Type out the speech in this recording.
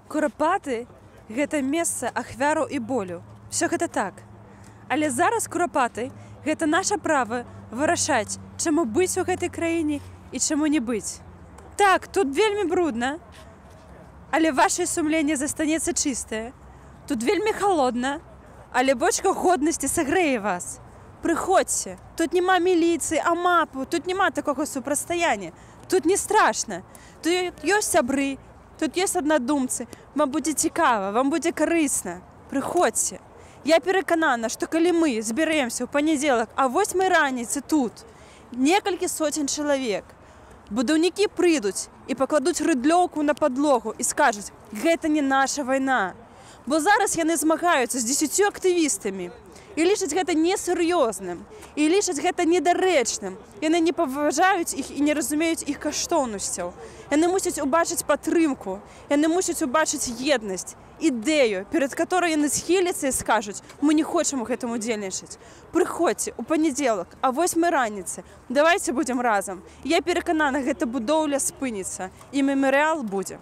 Курапаты – гэта месца ахвяраў і болю. Всё гэта так. Але зараз курапаты – гэта наша права вырашаць, чаму быць у гэтай краіне і чаму не быць. Так, тут вельмі брудна, але ваше сумленне застанецца чыстае. Тут вельмі холодна, але бочка годнасці сагрэе вас. Прыходзьце, тут няма міліцыі, амапу, тут няма такога супрацьстаяння. Тут не страшна. Тут ёсць сябры, тут ёсць аднадумцы. Вам будзе цікава, вам будзе карысна. Прыходзьце. Я пераканана, што калі мы збярэмся ў панядзелак, а 8 раніцы тут некалькі соцень чалавек, будаўнікі прыйдуць і пакладуць рыдлёўку на падлогу і скажуць: гэта не наша вайна. Бо зараз яны змагаюцца з 10 актывістамі і лічаць гэта несур'ёзным, і лічаць гэта недарэчным. Яны не паважаюць іх і не разумеюць іх каштоўнасцяў. Яны мусяць убачыць падтрымку, яны мусяць убачыць еднасць, ідэю, перад которой яны схіляцца і скажуць: мы не хочам у гэтым удзельнічаць. Прыходзьце ў панядзелак, а 8 раніцы. Давайце будзем разам. Я пераканана, гэта будоўля спыніцца, і мемарыял будзе.